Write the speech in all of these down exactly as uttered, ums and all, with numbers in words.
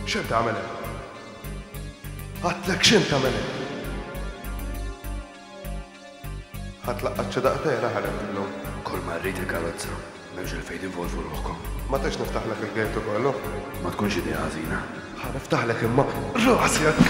X'int tagħmel hemm? Għadtlek x'int tagħmel hemm? Ħa tlaqqat xi daqtejn aħreb illum. Kull ma rrid il-karozza, m'hemmx għalfejn tinvolvu ruħkom. Ma tridx niftaħlek il-gate ukoll, hu? Ma tkunx idea ħażina. Ħa niftaħlek imma rasek!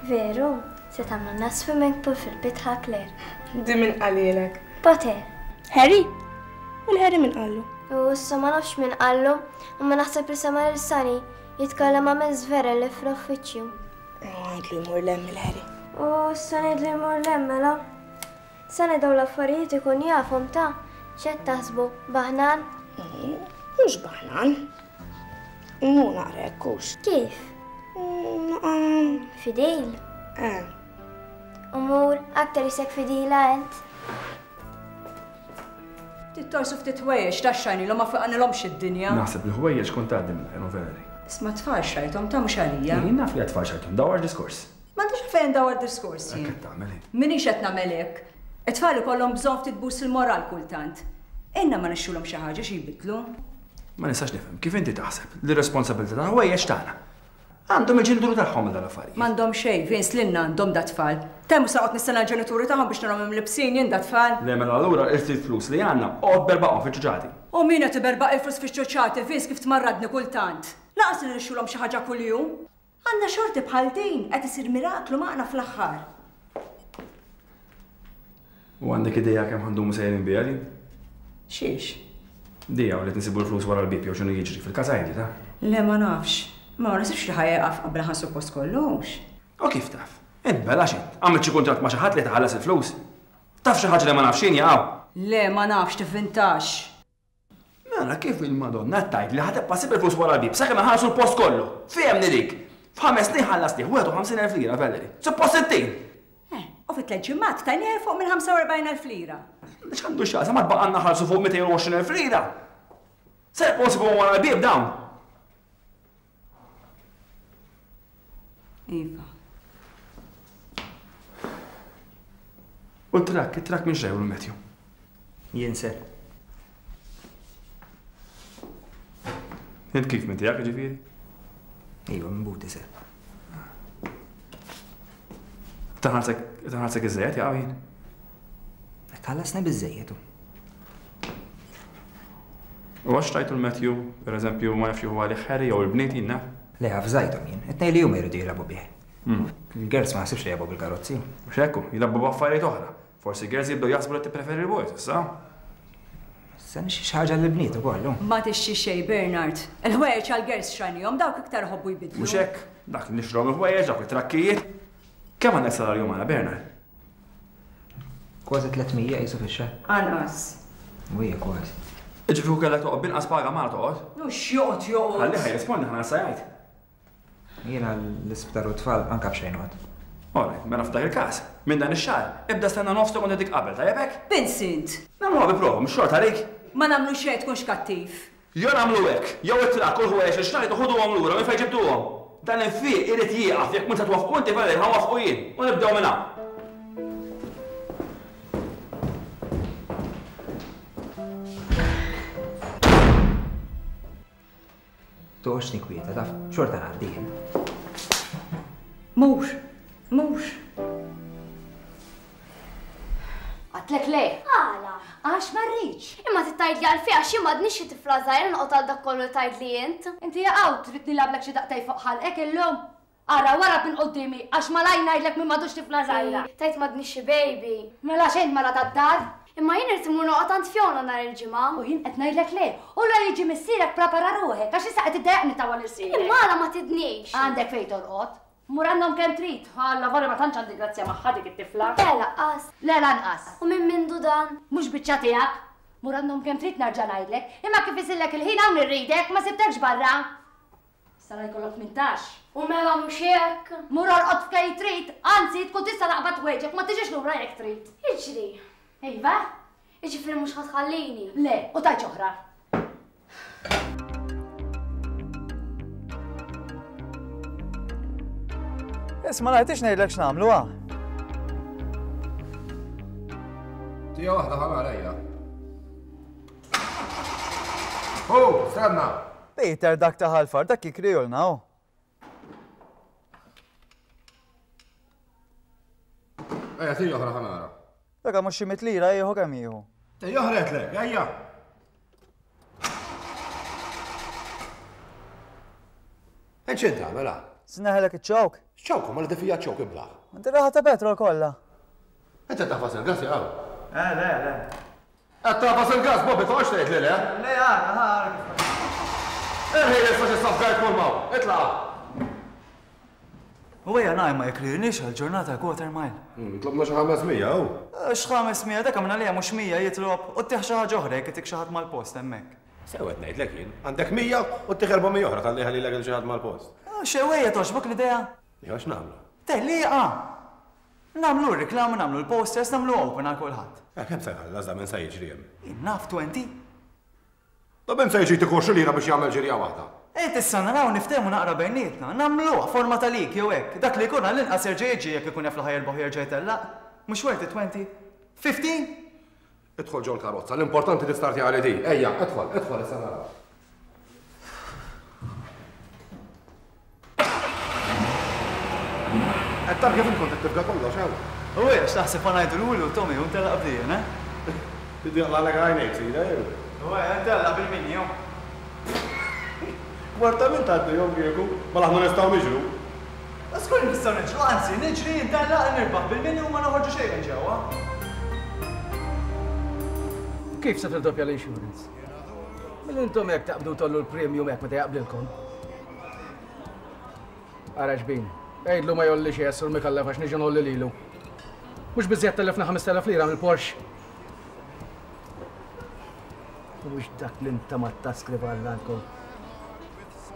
Veru, se tagħmlulna swimming pool fil-bitħa Claire. Di min qalilek? Poter. Harry? U l-Harry min qallu? U issa ma nafx min qallu, imma naħseb li sema' lil Sunny jitkellem ma' Miss Vera li fl-uffiċċju. Għidlu jmur 'l hemm il-Harry. U issa ngħidlu jmur 'l hemm mela. Sunny dawn l-affarijiet ikun jafhom ta' x'qed taħsbu, baħnan? Mhux baħnan. Mu naqra hekk hux. Kif? Naqa. Fidil? Eh. Umur, aktar isek fidila ent. Tittorsu ftit ħwejjeġ ta' xajnilhom ma faqanilhomx id-dinja. Naħseb li ħwejjeġ kont tgħaddi minn Valerie. Isma' tfal xajthom ta' mhux għalija. Jien naf li tfal xajthom, dawar diskors. M'għandix fejn dawar diskors jien. Hekk qed tagħmel hi. Minix qed nagħmel hekk. It-tfal ikollhom bżonn ftit bus il-moral kultant. Inna ma nixxulhom xi ħaġa xi jbidlu. Ma nistax nifhem kif inti taħseb li r-responsabilità ta' ħwejjeġ tagħna. Għandhom il-ġenituri tagħhom għal dal-affarijiet. M'għandhom xejn, Vince, lilna għandhom da tfal. Temm sa qgħod nistenna l-ġenituri tagħhom biex narhom imlibsin jien da tfal. Le mela allura il-ftit flus li għandna qgħod berbaqhom fiċ-ċuċati. U min qed iberbaq il-flus fiċ-ċuċati, Vince, kif tmarradni kultant. Laqas li nixxulhom xi ħaġa kuljum. Għandna xorti bħal din qed isir miraklu maqna fl-aħħar. U għandek idea kemm ħandumu sejrin biha din? Xiex? Dija u li tinsibu l-flus wara l-bib jew x'inhu jiġri fil-każ għajdi ta'? Le ma nafx. Ma nasibx li ħajqaf qabel ħansu post kollux. U kif taf? Int bela x'int? Għamilt xi kuntratt ma' xi ħadd li taħallas il-flus? Taf xi ħaġa li ma nafx jien jaqgħu? Le ma nafx tivvintax. Mela kif il-Madonna tgħid li ħa tibqa' ssib il-flus wara l-bib sakemm iħallsu l-post kollu? Fehemni dik. F'ħames snin ħallasni wieħed u ħamsin elf lira, Valerie. Suppost sittin. Eh, u fi tliet ġimgħat tajnieh fuq minn ħamsa u erbgħin elf lira. X'għandu x'jaqsam ma tbaqgħalna ħallsu fuq mitejn u għoxrin elf lira. Se jibqgħu nsibuhom wara l-bieb dawn. Iva. U t-trakk, it-trakk minn xejn Matthew. Jien ser. Int kif minn tiegħek ġifieri? Iva, minn buti ser. Taħansek, taħansek iżejjed jaqaw jien. Tħallasna biżejjed. U għax tajtu l-Matthew, per eżempju, ma nafx huwa għalih Harry jew il-bniet jien naf. Le, avżajthom jien. It-tnejn li huma jridu jilagħbu bih. Hmm. Il-girls ma naħsibx li jilagħbu bil-karozzi. Mhux hekk, jilagħbu b'affarijiet oħra. Forsi girls jibdew jaħsbu li tippreferi l-boys, issa. Issa nixxi xi ħaġa lill-bniet ukoll, hu. Ma tixxi xejn, Bernard. Il-ħwejjeġ għall-girls xrajnihom dawk iktar iħobbu jbidlu. Mhux hekk, dak li nixrom il-ħwejjeġ, dawk it-trakkijiet. Kemm għandek salarju magħna, Bernard? Kważi tliet mija qisu fix-xahar. Anqas. U hija kważi. Ġifieri kellek toqgħod binqas paga magħna toqgħod? Mhux joqgħod joqgħod. Ħalli ħaj rispondi ħana sa jgħid. Jiena l-isptar u tfal anke b'xejn noqgħod. Alright, mela f'dak il-każ, minn dan ix-xahar, ibda stenna nofs tkun dik qabel, tajjeb hekk? Vincent! Nagħmluha bi prova, mhux xorta għalik. Ma nagħmlu xejn tkunx kattiv. Jew nagħmlu hekk, jew it-trakk u l-ħwejjeġ li xtrajtu ħuduhom lura minn fejn ġibtuhom. Dan il-fiq irid jieqaf jekk mhux se twaffqu inti Valerie ħa nwaffqu jien u nibdew minn hawn. Toqgħodx ninkwieta, taf, xorta ngħaddi jien. Mhux, mhux. Għadtlek le. Għala? Għax ma rridx. Imma titgħidli għalfejn għax jien m'għadniex xi tifla żgħira noqgħod għal dak kollu li tgħidli int. Inti jaqgħu trid nilgħablek xi daqtej fuq ħalqek illum. Ara wara minn quddiemi għax malaj ngħidlek min m'għadux tifla żgħira. Ej, tajt m'għadniex xi baby. Mela xejn mara tad-dar. Imma jien irid immur noqgħod għand Fiona nhar il-ġimgħa. U jien qed ngħidlek le. U la jiġi missierek prepara ruħek għax issa qed iddejjaqni tawal irsierek. Imma għala ma tidnix. Għandek fejn torqod. Mur għandhom kemm trid. Alla vorri ma tantx għandi grazzja magħha dik it-tifla. Le lanqas. Le lanqas. U minn mindu dan? Mhux biċċa tiegħek. Mur għandhom kemm trid narġa' ngħidlek. Imma kif isillek il-ħin hawn irridek, ma sibtekx barra. Issa la jkollok tmintax. U mela mhux hekk. Mur orqod f'kej trid, anzi tkun tista' taqbad tweġek, ma tiġix lura jekk trid. Iġri. Iva? Jiġifieri mhux ħa tħallini. Le, u tajt oħra. Isma' ngħidx ngħidlek x'nagħmlu ha. Tija waħda ħa nara ejja. Oh, stenna! Peter dak ta' ħalfar dak jikrijulna hu. Ejja, tija oħra ħa nara. Dak mhux xi mitt lira jieħu kemm jieħu. Tija oħra qedlek, ejja! X'int tagħmel ha? Sneħelek iċ-ċawk. Ċawk, ma li tifija ċawk iblaħ. Inti raħa ta' petrol kollha. Inti tafas il-gas jaqaw. Eh, le, le. Qed tafas il-gas, Bobby, toqgħodx tgħid li le. Le, ara, ara. Erħi issa xi safgajt kull maw. Itlaq. U ejja ngħid ma jekrilniex għall-ġurnata quarter mile. Tlobna xi ħames mija, hu. X'ħames mija dak għamilna lejha mhux mija jitlob u ttieħ xi ħaġa oħra jekk itik xi ħadd mal-post hemmhekk. Sew qed ngħidlek jien, għandek mija u ttieħ erba' mija oħra talli ħalilek il xi ħadd mal-post. Xewejja toġbok l-idea? Jew x'nagħmlu? Tellieqa! Nagħmlu r-reklama, nagħmlu l-posters, nagħmlu open għal kulħadd. Eh, kemm se jħallas da minn se jiġri hemm? Jien naf twenty. Da minn se jiġi tikun xi lira biex jagħmel ġirja waħda. Ejt issa naraw niftehmu naqra bejnietna, nagħmluha forma ta' lik jew hekk. Dak li jkun għall-inqas jerġa' jiġi jekk ikun jaf li ħajerbaħ jerġa' jtellaq. Mhux worth it twenty. Fifteen? Idħol ġol karozza, l-importanti tistarti għal di. Ejja, idħol, idħol issa naraw. Qed tara kif inkun qed tibda kollox hawn. U hija x'taħseb ma ngħidu lulu Tommy u ntellaq bdien, eh? Tiddi jaqlagħlek għajnejk sida jew? U hija ntellaq bil-mini jew. Kwarta minn tgħaddi jom kieku, ma aħna nistgħu niġru. Żgur nistgħu niġru, anzi niġri ntellaq nirbaħ bil-mini u ma noħorġu xejn minn ġewwa. Kif se tirdoppja l-insurance? Mill intom hekk taqbdu tollu l-premium hekk meta jaqblilkom. Ara xbin, għidlu ma jolli xi Sur Mikallef għax niġi nolli lilu. Mhux biżżejjed tellefna ħamest elef lira mill-Porsche. Mhux dak li inta ma taskriva għandkom.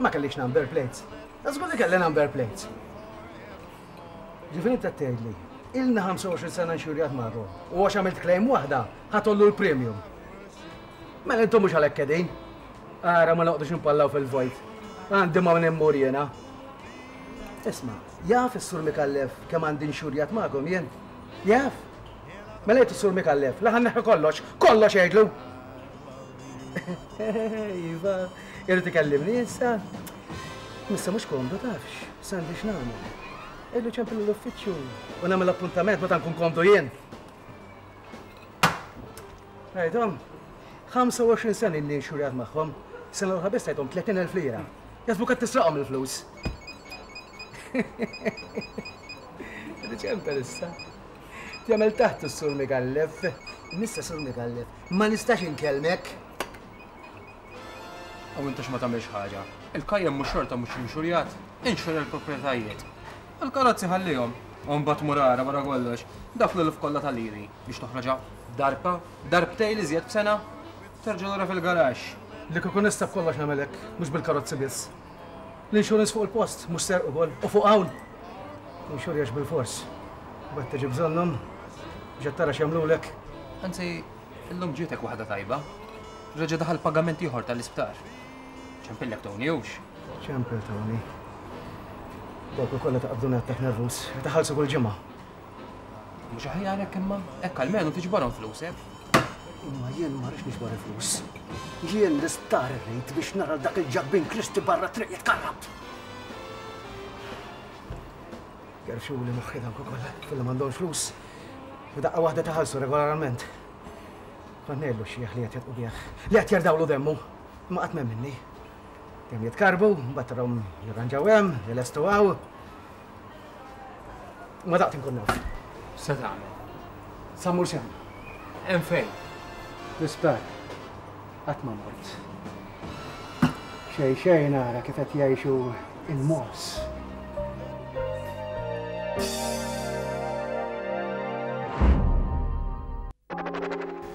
Ma kellix number plates. Żgur li kelli number plates. Ġifieri inta tgħidli, ilna ħamsa u għoxrin sena nxurjat magħkom u għax għamilt claim waħda ħatollu l-premium. Mela intom mhux għalhekk qegħdin. Ara ma noqgħodux nimpallaw fil-vojt. Għandi ma nimmur jiena. Isma', jaf is-Sur Mikallef kemm għandi nxurjat magħkom jien? Jaf? Mela jgħid is-Sur Mikallef, la ħanneħħi kollox, kollox jgħidlu. Iva, irid ikellimni issa. Issa mhux komdu tafx, s'għandi x'nagħmel. Illu ċempel l-uffiċċju u nagħmel appuntament meta nkun komdu jien. Rajthom, ħamsa u għoxrin sena illi nxurjat magħhom, sena l-oħra biss tajthom tletin elf lira. Jaħsbu qed tisraqhom il-flus. Ċempel issa. Jagħmel taħt is-Sur Mikallef. Missa Sur Mikallef, ma nistax inkellmek. U intax ma tagħmilx ħaġa. Il-kajjem mhux xorta mhux inxurjat, inxurja l-proprjetajiet. Il-karozzi ħallihom, u mbagħad mur ara wara kollox, dak l-elf kollha tal-liri biex toħroġha darba, darbtejn li żjed b'sena, terġa' lura fil-garaxx. Li kieku nista' b'kollox nagħmel hekk, mhux bil-karozzi biss. L-insurance fuq il-post, mhux serq ukoll, u fuq hawn. Inxurjax bil-fors. Mbagħad tiġi bżonnhom, biex tara x'jagħmlulek. Anzi, illum ġietek waħda tajba. Reġa' daħal pagament ieħor tal-isptar. Ċempillek Tony hux? Ċempel Tony. Dawk ukoll taqbduna attak nervus, taħallsu kull ġimgħa. Mhux aħjar hekk imma, hekk almenu tiġbarhom flusek. Imma jien ma rridx niġbar il-flus. Jien l-isptar irrid biex nara dak il-ġabbin Kristi barra triq jitkarrab. Gerxuli moħħi dawk ukoll, filli m'għandhomx flus. U daqqa waħda taħallsu regolarment. Kont ngħidlu xieħ li qed jatqu bih, li qed jerdawlu demmu, imma qatt m'hemm minni. Kemm jitkarbu, mbagħad tarahom jirranġaw hemm, jilestu hawn. Ma daqt inkun naf. Se tagħmel? Sa mmur sehem. Hemm fejn? L-isptar. Qatt ma mort. Xejn xejn nara kif qed jgħixu il-mos.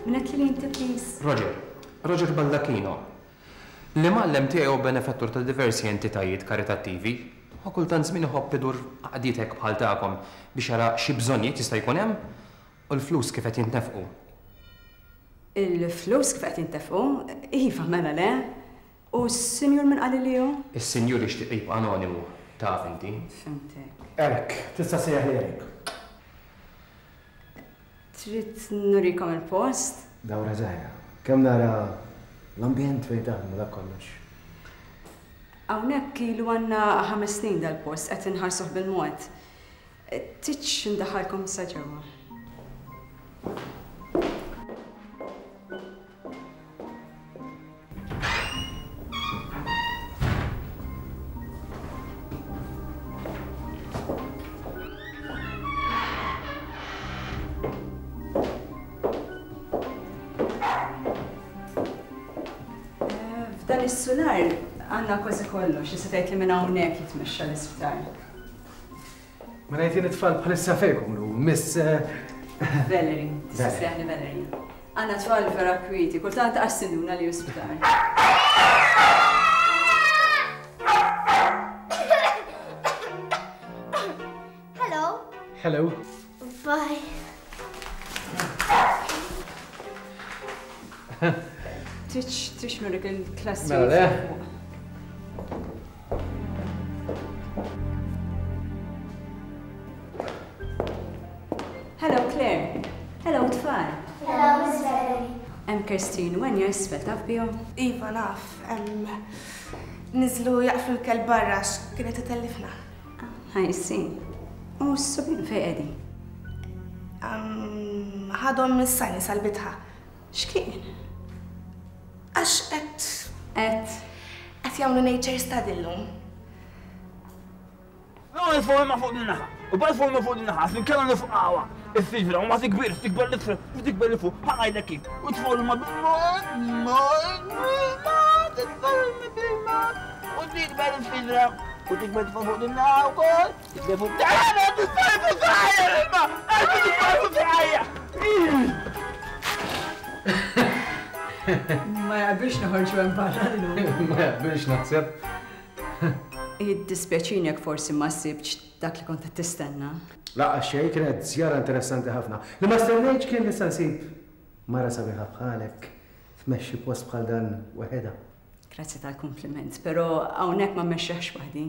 Minnet li inti, please? Roger. Roger Baldacchino. L-imgħallem tiegħi hu benefettur ta' diversi entitajiet karitattivi u kultant żmien iħobb idur għaqdiet bħal tagħkom biex jara xi bżonnijiet jista' jkun hemm u l-flus kif qed jintnefqu. Il-flus kif qed jintnefqu? Iva, mela le. U s-sinjur min qal li hu? Is-sinjur jixtieq jibqa' anonimu, taf inti. Fimtek. Eric, tista' sejjaħ li Eric. Trid nurikom il-post? Dawra żgħira. Kemm nara l-ambjent fejn taħdmu dak kollox. Hawnhekk ilu għandna ħames snin dal-post qed inħarsuh bil-mod. Tridx indaħħalkom sa ġewwa. F'dan is-sular għandna kważi kollox, jista' tgħid li minn hawnhekk jitmexxa l-isptar. Ma ngħid jien it-tfal bħalissa fejn ikunu, Miss Valerie, tista' ssejjaħli Valerie. Għandna tfal vera kwieti, kultant qas tinduna li hu sptar. Hello. Hello. Bye. Tridx tridx nurik il-klassi. Mela le. Hello Claire. Hello tfal. Hello Miss Valerie. Hemm Kirstine u Enya isfel taf bihom? Iva naf, niżlu jaqflu l-kelb barra għax kienet itellifna. I see. U s-subien fejn qegħdin? Ħadhom mis-sajni sal-bitħa. X'kien? Għax qed Qed qed jagħmlu nature study llum. Nifgħu ma fuq din-naħa. U bad fuq fuq din-naħa, inkella nifqgħuha. Is-siġra u ma tikbir, tikber l-isfel, u tikber l fuq, ħa ngħidlek kif. U tfgħu ma bil-mod, mod, bil-mod, titfgħu bil-mod. U tikber is-siġra, u tikber tfgħu fuq din-naħa wkoll, tikber fuq. Tagħna titfgħu fuq saqajja l-ilma! Titfgħu fuq saqajja! Ma jaqbilx noħorġu hemm barra llum. Ma jaqbilx naħseb. Jiddispjaċini jekk forsi ma sibtx dak li kont qed tistenna. Laqgħa xejn, kienet żjara interessanti ħafna. Li ma stennejtx kien li se nsib mara sabiħa bħalek tmexxi post bħal dan waħedha. Grazzi tal-kompliment, però hawnhekk ma mmexxeħx waħdi.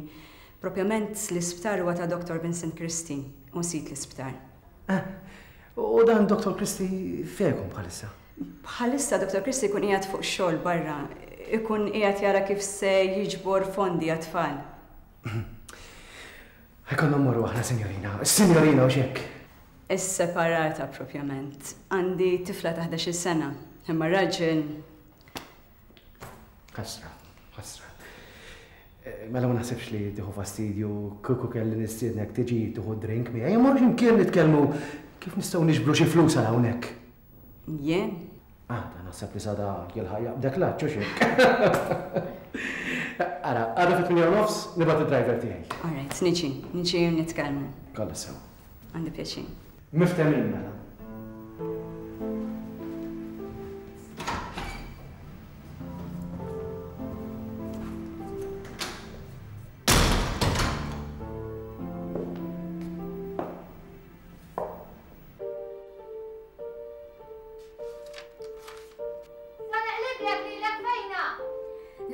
Propjament l-isptar huwa ta' Doctor Vincent Christie u nsit l-isptar. Ah, u dan Doctor Christie fejn ikun bħalissa? Bħalissa Doctor Christie jkun qiegħed fuq xogħol barra, ikun qiegħed jara kif se jiġbor fondi għat-tfal. Ħajkonna mmorru aħna, sinjorina. Sinjorina u xek. Is-separata propjament. Għandi tifla ta' ħdax-il sena, imma raġel. Ħasra, ħasra. Mela ma naħsibx li tieħu fastidju kieku kelli nistiednek tiġi tieħu drink miegħi. Immorru x'imkien nitkellmu kif nistgħu niġbru xi flus għal hawnhekk. Jien? Ah, ta' naħseb li sada jilħaq jaqbdek l-għadd, xi hekk. Ara, għada fit-tmienja u nofs nibgħat id-driver tiegħi. All right, niġi, niġi u nitkellmu. Kollha sew. Għandi pjaċir. Miftemin mela.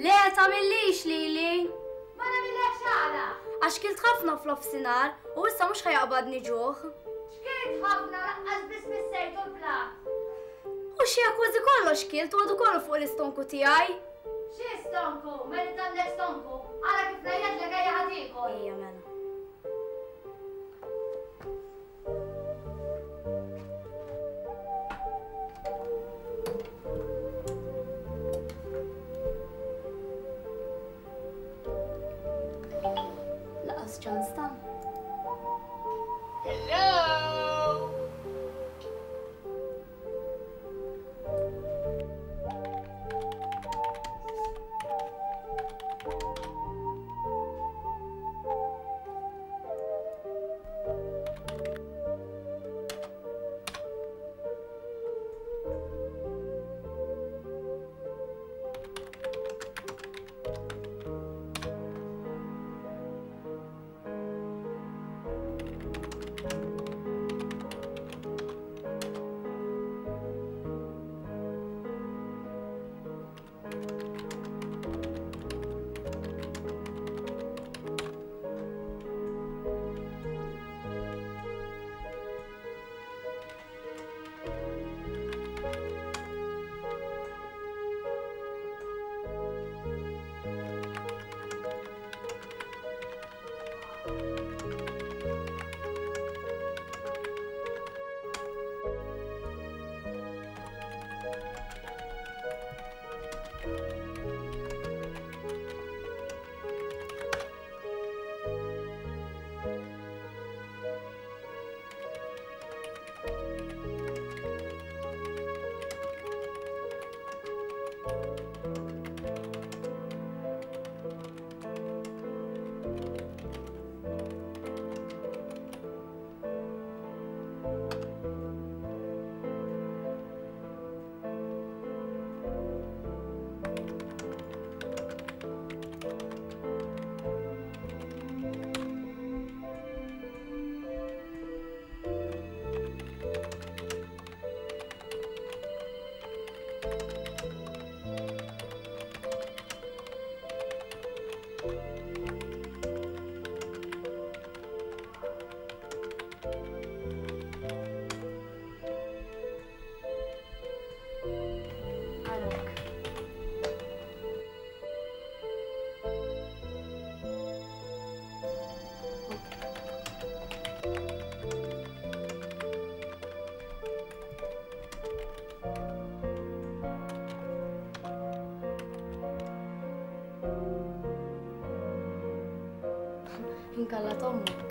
Le, tagħmillix lili. Ma nagħmillekx għala. Għax kilt ħafna fl-offsinar u issa mhux ħajaqbadni ġuħ. X'kilt ħafna laqqas biss missejtu l-plat. U xi kważi kollox kilt u għadu kollu fuq l-istonku tiegħi. Xi stonku? Mela għandek stonku? Ara kif ngħidlek ejja ħa tiekol. Ejja mela. Ċans ta'. Hello! Tkun kallat ommok.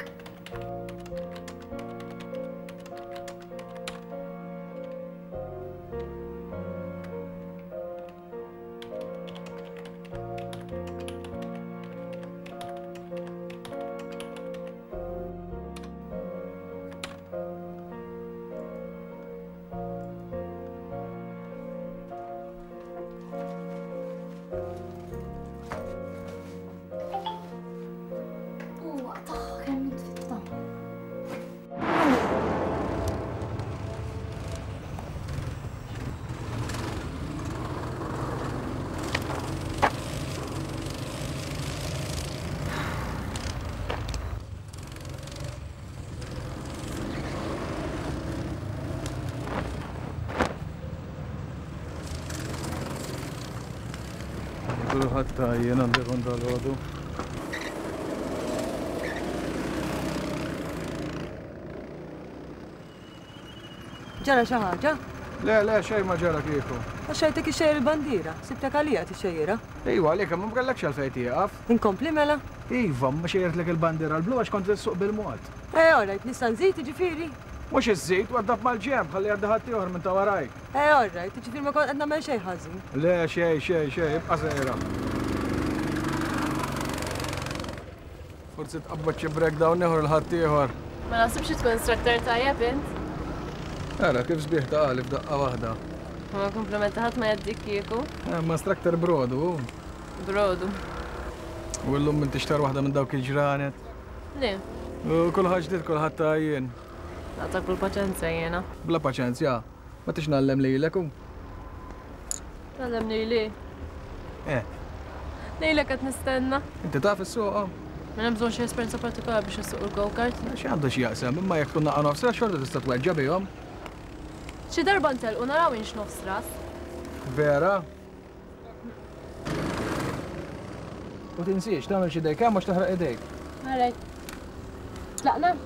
Kulħadd jien għandi kont dal-għodu. Ġara xi ħaġa? Le, le, xejn ma ġara kieku. Għax xejtek ixxejjer il-bandiera, sibtek għalija tixxejjirha. Iva, għalika ma mkellekx għalfejn tieqaf. Inkompli mela? Iva, ma xejjertlek il-bandiera l-blu għax kont issuq bil-mod. Eh, orajt, nista' nżid jiġifieri? Mhux iżżid, waddab mal-ġenb, ħalli għaddi ħadd ieħor minn ta' warajk. Eh, orajt, jiġifieri ma kont qed nagħmel xejn ħażin. Le, xejn, xejn, xejn, ibqa' sejra. Forsi tqabbad xi breakdown ieħor il ħadd ieħor. Ma naħsibx tkun instructor tajjeb int. Ara, kif sbieħ ta' qalif daqqa waħda. Ma komplimenta ħadd ma jgħaddik kieku. Eh, ma instructor brodu. Brodu. U llum inti xtar waħda minn dawk il-ġranet. Le. U kulħadd ġdid kulħadd ta' jien. Naqtak bil-paċenzja jiena. Bla paċenzja? Ma tix nallem lilek u? Nallem lili? Eh. Lilek qed nistenna. Inti taf is-suqa? Ma hemm bżonn xi esperjenza partikolari biex issuq il-go-kart. Xi għandu xi jaqsam, imma jekk tkun naqa' nofs ras xorta tista' tweġġa' bihom. Xi darba ntelqu naraw inx nofs ras. Vera? U tinsiex tagħmel xi dejk hemm għax taħraq idejk. Alright. Tlaqna?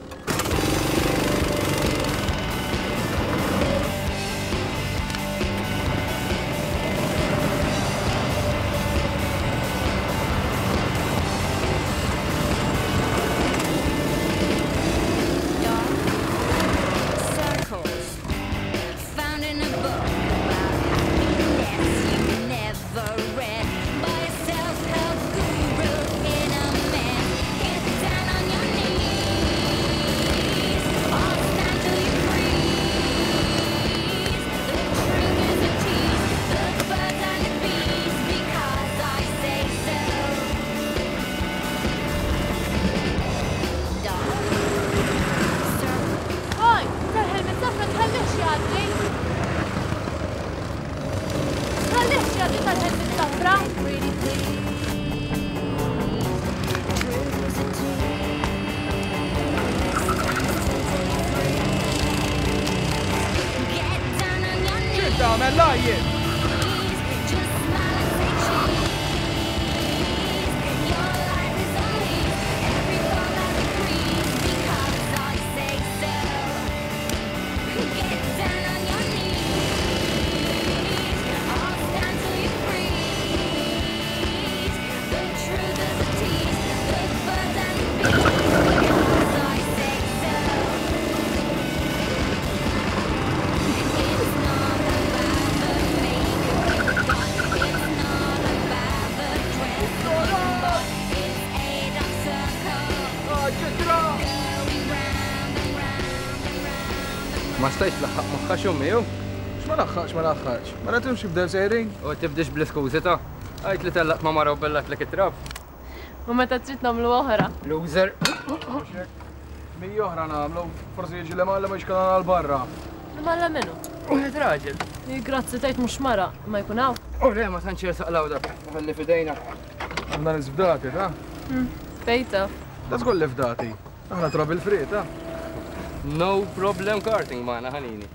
Ma stajtx tlaħħaq moħħax ommi jew? X'ma laħħaqx ma laħħaqx. Ma rajthomx jibdew sejrin. U tibdix bl-iskużi ta' għajt li tellaqt ma' mara u bellatlek it-trab. U meta trid nagħmlu oħra. Loser. Mija oħra nagħmlu, forsi jiġi li malla ma jxkalana għal barra. Malla minnu? Wieħed raġel. Grazzi tgħid mhux mara, ma jkun hawn. U le ma tantx jersaq dak, ħalli f'idejna. Għandna nisfdati, ta? Fejta. Da żgur li fdati. Aħna trouble free, ta? No problem karting magħna ħanini.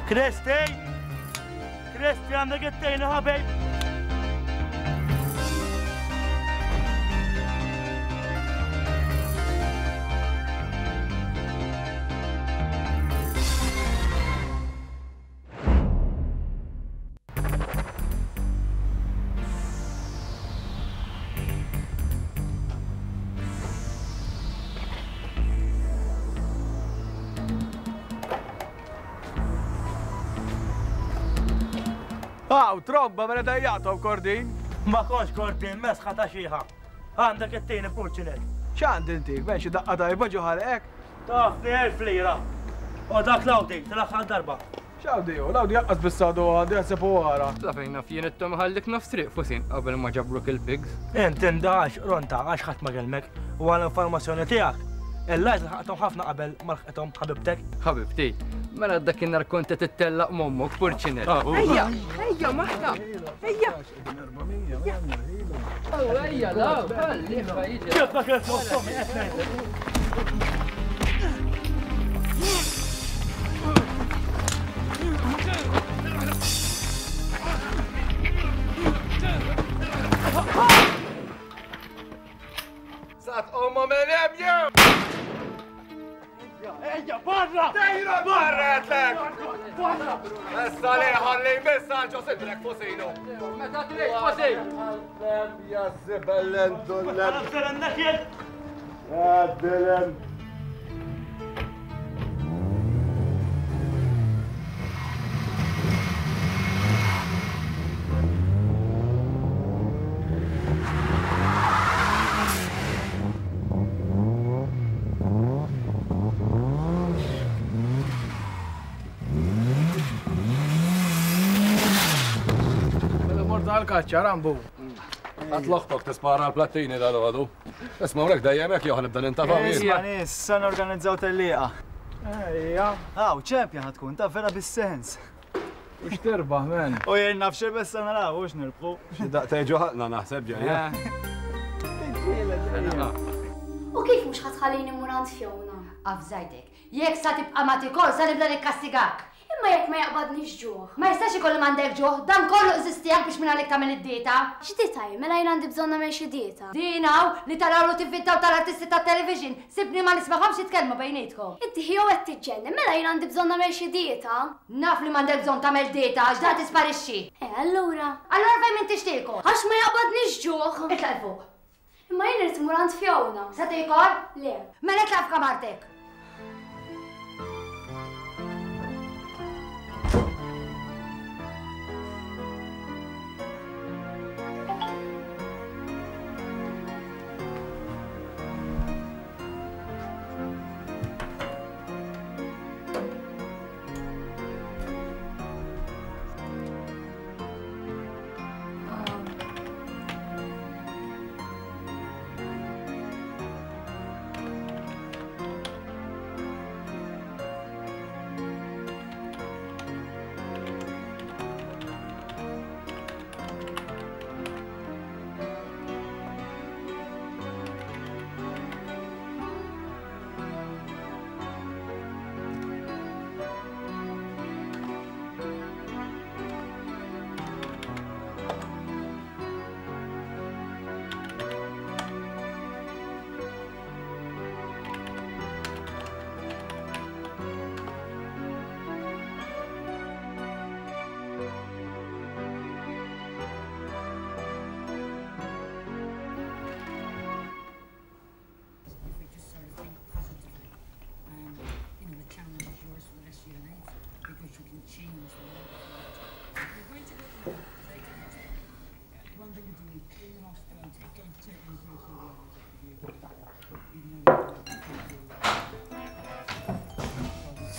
Kristi! Kristi għandek it-tejn ħabib! Aw, tromba, mela dajjatom Kordin. Ma kontx Kordin, mesħa ta' xieħa. Għandek it-tieni purċinet. X'għandi intik, ben xi daqqa tajba ġo ħalqek? Taf elf lira. U dak l-Audi, tal-aħħar darba. X'Audi hu? L-Audi jaqqas bis-sadu għandi jaħseb u wara. La fejn naf jien it-tom ħallik nofs triq fusin qabel ma ġabruk il-pigs. Int indax ronta għax ħadd ma kellmek u għal informazzjoni tiegħek. Il-lajt ħaqthom ħafna qabel ma lħqithom ħabibtek. Ħabibti, mela dakinhar kont qed ittellaq m'ommok purċinet. Ejja, ejja maħna. Ejja. Ejja, la, ħalli jiġi. Kif ma kif tommi qed ngħidlek. Sat omma minn hemm jew! Ejja, barra! Dejra barra għedlek! Barra! Issa li ħalli missa ġo sidrek fosinu. Meta trid fosin! Ja zibellen dullem. Għaddilem. Għal-kaċċa, Rambu. Għat loħtok tispara l-plattini dal-għadu. Isma' hawnhekk dejjem hekk jew ħanibda nintafa' Isma' nies, sa norganizzaw tellieqa. Ejja. Aw, champion ħatkun, ta' vera bis-sens. U x'tirbaħ, men. U jien naf xi bes naraw u x'nirbħu. Xi daqtej ġo ħaqna naħseb ġejja. U kif mhux ħatħallini mmur għand Fiona? Afżajtek, jekk sa tibqa' ma tikol sa nibda nikkastigak. Imma jekk ma jaqbadniex ġuħ. Ma jistax ikollu m'għandek ġuħ, dan kollu eżistijak biex minn għalik tagħmel id-dieta. X'dieta hi? Mela jien għandi bżonn nagħmel xi dieta. Din hawn li taraw lu tivvintaw tal-artisti tat-television, sibni ma nismagħhomx jitkellmu bejnietkom. Inti ħjew qed tiġġenni, mela jien għandi bżonn nagħmel xi dieta. Naf li m'għandek bżonn tagħmel dieta għax dan tisparixxi. Eh, allura. Allura fejn m'intix tiekol? Għax ma jaqbadniex ġuħ. Itlaq 'il fuq. Imma jien irid immur għand Fiona. Se tiekol? Le. Mela itlaq f'kamartek.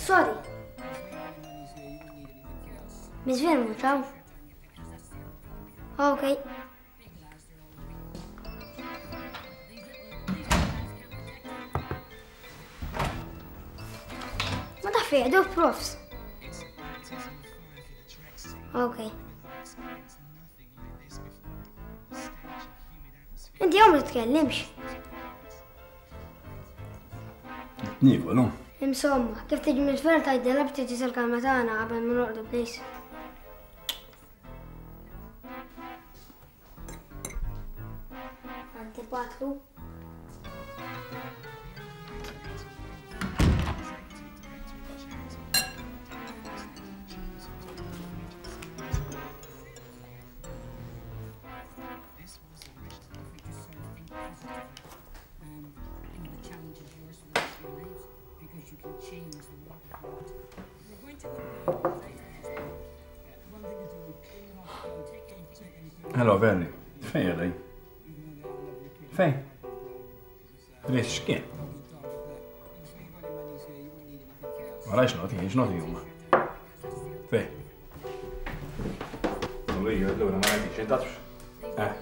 Sorry. Miss Vermu, ciao. Ok. Ma taf jgħidu profs. Ok. Inti hawn ma titkellimx. Niekol, no? Insomma, kif tiġi mill-fer tgħidilha biex tiġi sal-kamra tagħna qabel ma noqogħdu please. Antipatru. Hello, Verni. Fejn għedaj? Fejn? Rix, x'kien? Ma rajx noti, x'noti huma. Fejn? U iju, allura ma rajtix, intatx. Eh,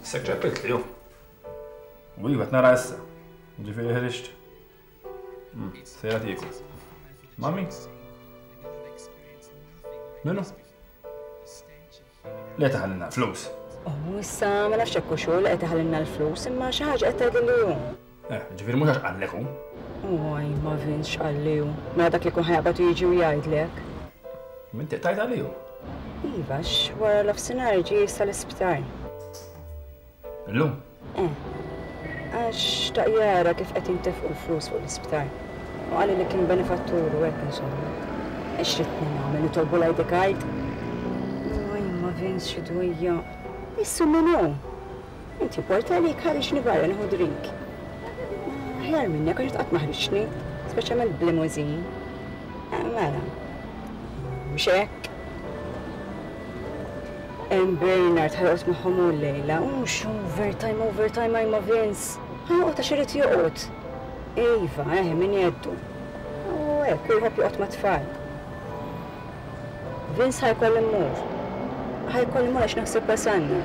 issek ċeppilt li ju. U iva, nara issa. Ġifieri ħriġt. Sejra tieku. Mami? Minu? Le taħallinna flus. Oh, issa ma nafx hekk xogħol qed taħallinna l-flus, imma xi ħaġa qed tgħidli hu. Eh, ġifieri mhux għax qallek hu. Oj, ma Vince x'qalli hu. Mela dak li kun ħajqbad u jiġi u jgħidlek. Minti qtajt għalih hu. Iva, wara l-ofsinhar ġie issa l-isptar. Illum? Eh. Għax xtaq jara kif qed jintefqu l-flus fuq l-isptar. U qalli li kien benefattur u hekk insomma. Ix ridni nagħmel nitolbu l-I D card? Oj, ma Vince xi dwejja. Issu min hu? Inti porta għalik ħariġni barra nieħu drink. Aħjar minnek għax qatt ma ħriġni, speċjalment b'limousine. Mela. Mhux hekk. Hemm Bernard ħajqgħod magħhom hu llejla, u mhux overtime, overtime ma Vince. Ħajqgħod għax irid joqgħod. Iva, eh, min jeddu. U hekk, hu jħobb joqgħod mat-tfal. Vince ħajkolli mmur. Ħajkolli mmur għax naħseb wasalna.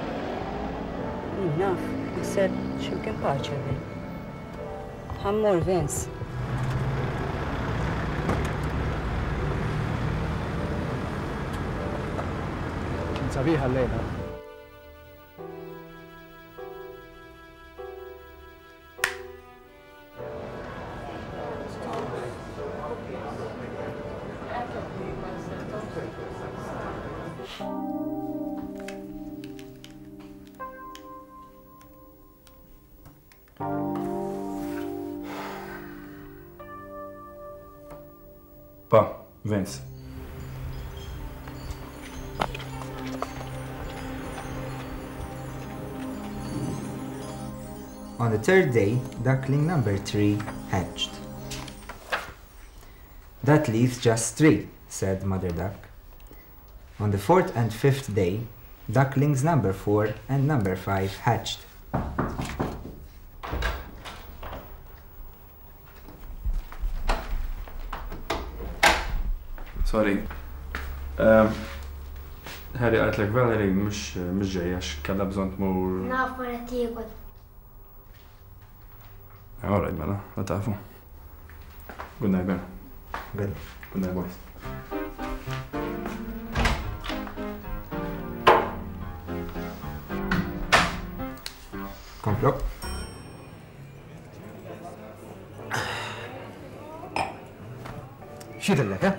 Jien naf, naħseb x'imkien paċe Vin. Ħammur Vince. Sabiħa l-lejla. Pa, Vince. On the third day, duckling number three hatched. That leaves just three, said Mother Duck. On the fourth and fifth day, ducklings number four and number five hatched. Sorry. Um, Harry qaltlek Valerie mhux mhux ġejja għax kellha bżonn tmur. Naf ma qed tiekol. All right, mela, la tafu. Good night, Ben. Good. Good night, boys. Komplo. X'jidhirlek, eh?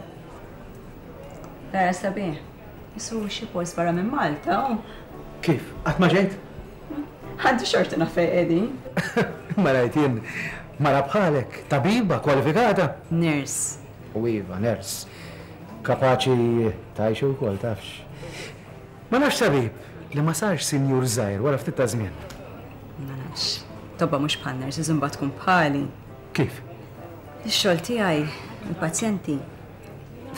Vera sabiħ. Isu xi post barra minn Malta, u. Kif? Qatt ma ġejt? Għandi xorti naf fejn qegħdin. Ma rajt jien mara bħalek, tabiba, kwalifikata. Nurse. U iva, nurse. Kapaċi tgħixu wkoll tafx. Ma nafx tabib li ma sarx sinjur żgħir wara ftit ta' żmien. Ma nafx. Tobba mhux bħal nurses imbagħad tkun bħali. Kif? Ix-xogħol tiegħi, il-pazjenti,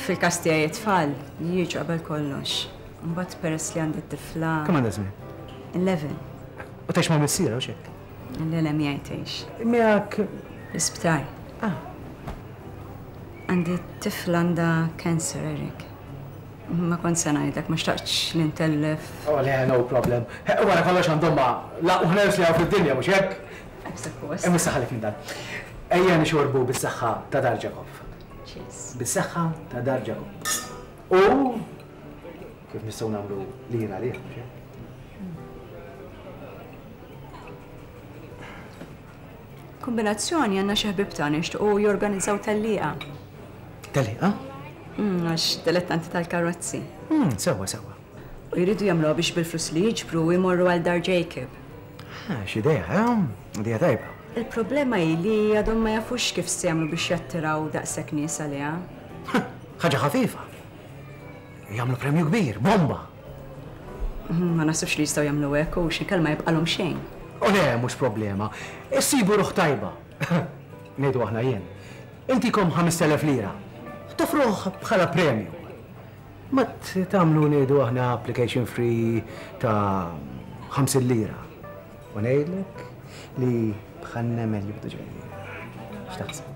fil-każ tiegħi it-tfal jiġu qabel kollox. Mbagħad peress li għandi t-tifla. Kemm għandha żmien? Eleven. U tgħix ma' missierha u x'hekk? Le le miegħi tgħix. Miegħek? L-isptar. Ah. Għandi t-tifla għandha cancer, Eric. Ma kont se ngħidlek, ma xtaqtx li ntellef. Oh le, no problem. Wara kollox għandhom ma laqgħu nurse li hawn fid-dinja mhux hekk? Hekk suppost. Imma issa ħallik minn dan. Ejja nixorbu bis-saħħa ta' Dar Jacob. Cheers. Bis-saħħa ta' Dar Jacob. U kif nistgħu nagħmlu lira għalih, mhux hekk? Kombinazzjoni għandna xi ħbieb tagħna jixtiequ jorganizzaw tellieqa. Tellieqa? Għax dilettanti tal-karozzi. Sewwa, sewwa. U jridu jagħmluha biex bil-flus li jiġbru jmorru għal Dar Jacob. Ah, x'idea, eh? Idea tajba. Il-problema hi li għadhom ma jafux kif se jagħmlu biex jattiraw daqshekk nies għaliha. Ħaġa ħafifa. Jagħmlu premju kbir, bomba. Ma naħsibx li jistgħu jagħmlu hekk u xi kelma jibqalhom xejn. U le, mhux problema. Issibu ruħ tajba. Ngħidu aħna jien. Intikom ħamest elef lira. Toffruh bħala premju. Ma tagħmlu ngħidu aħna application free ta' ħamsin lira. U ngħidlek li bħal nemel jibdu ġejjin. X'taħseb?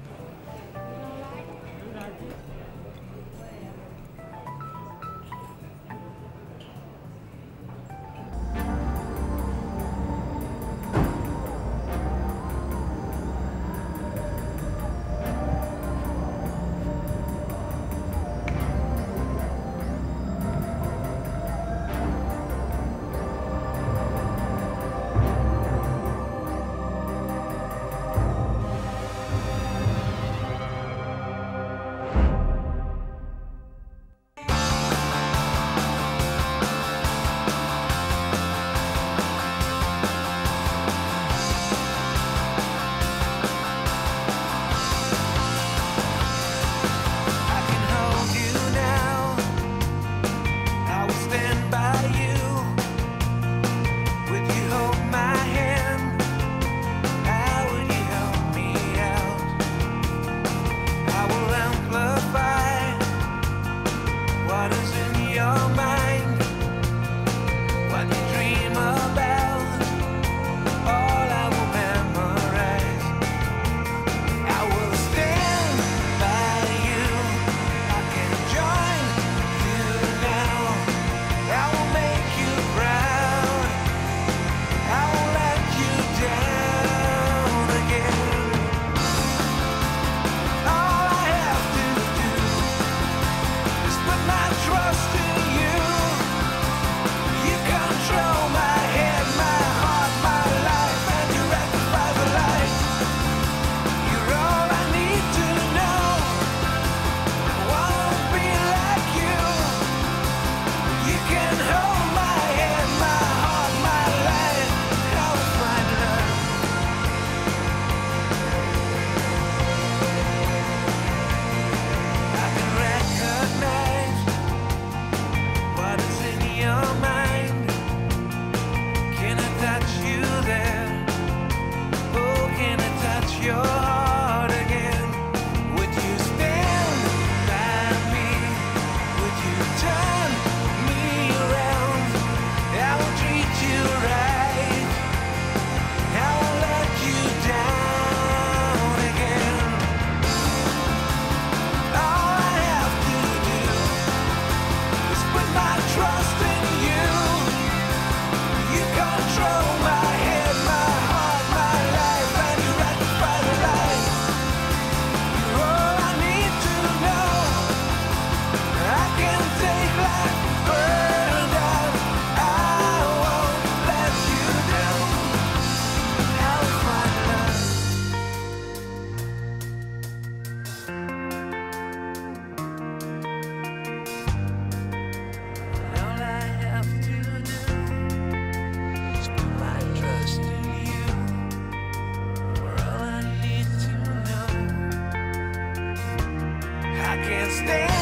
I can't stand.